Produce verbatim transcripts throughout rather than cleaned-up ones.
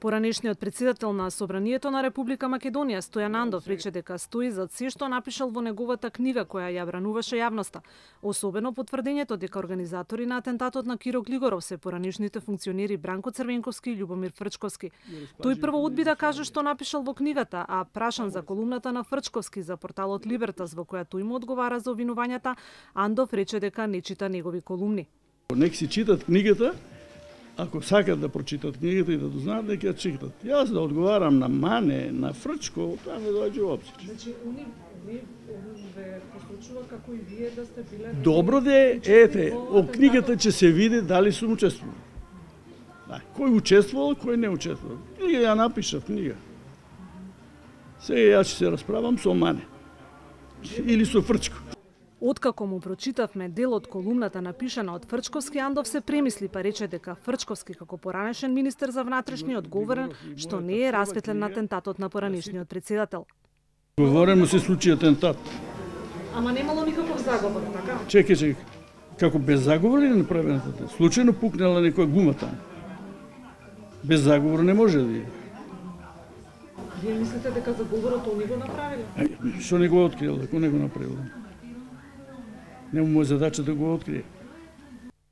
Поранешниот претседател на Собранието на Република Македонија Стојан Андов рече дека стои зад се што напишал во неговата книга која ја брануваше јавноста, особено потврдењето дека организатори на атентатот на Киро Глигоров се поранешните функционери Бранко Црвенковски и Љубомир Фрчковски. Тој прво одби да каже што напишал во книгата, а прашан за колумната на Фрчковски за порталот Либертас во која тој му одговара за обвинувањата, Андов рече дека не чита негови колумни. Нек си читат книгата, ако сакат да прочитат книгата и да дознаат, нека ја читат. Јас да одговарам на Мане, на Фрчко, тоа не доаѓа во обзир. Значи, уни ве посочува како и вие да сте биле... Добро де, ете, о книгата ќе се види дали сум учествувал. Да, кој учествувал, кој не учествувал. Книга ја напишав, книга. Сега јас ќе се расправам со Мане. Или со Фрчко. Откако му прочитавме дел од колумната напишана од Фрчковски, Андов се премисли па рече дека Фрчковски како поранешен министер за внатрешни одговорен што не е расветлен на атентатот на поранешниот претседател. Говорено се случи атентат. Ама немало никаков заговор, така? Чекај, чекај. Како без заговор ли направен атентат? Случајно пукнала некоја гума таму. Без заговор не може да биде. Вие мислите дека заговорот они го направиле? Што не го открил, ако не го направил? Нема му е задача да го открие.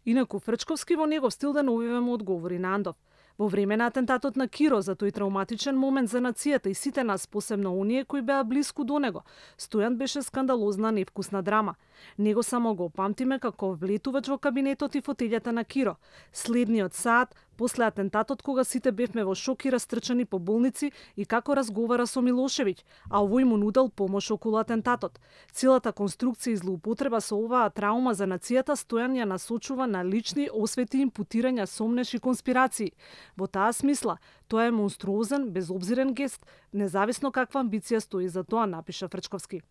Инаку Фрчковски во негов стил да новиве му одговори на Андов. Во време на атентатот на Киро, за тој травматичен момент за нацијата и сите нас, посебно оние кои беа блиску до него, Стојан беше скандалозна невкусна драма. Него само го памтиме како влетувач во кабинетот и фотелјата на Киро. Следниот саат, после атентатот, кога сите бевме во шок и растрчани по болници, и како разговара со Милошевиќ, а овој му нудел помош околу атентатот. Целата конструкција и злоупотреба со оваа траума за нацијата Стојан ја насочува на лични освети, импутирања, сомнеш и конспирации. Во таа смисла, тоа е монструозен, безобзирен гест, независно каква амбиција стои за тоа, напиша Фрчковски.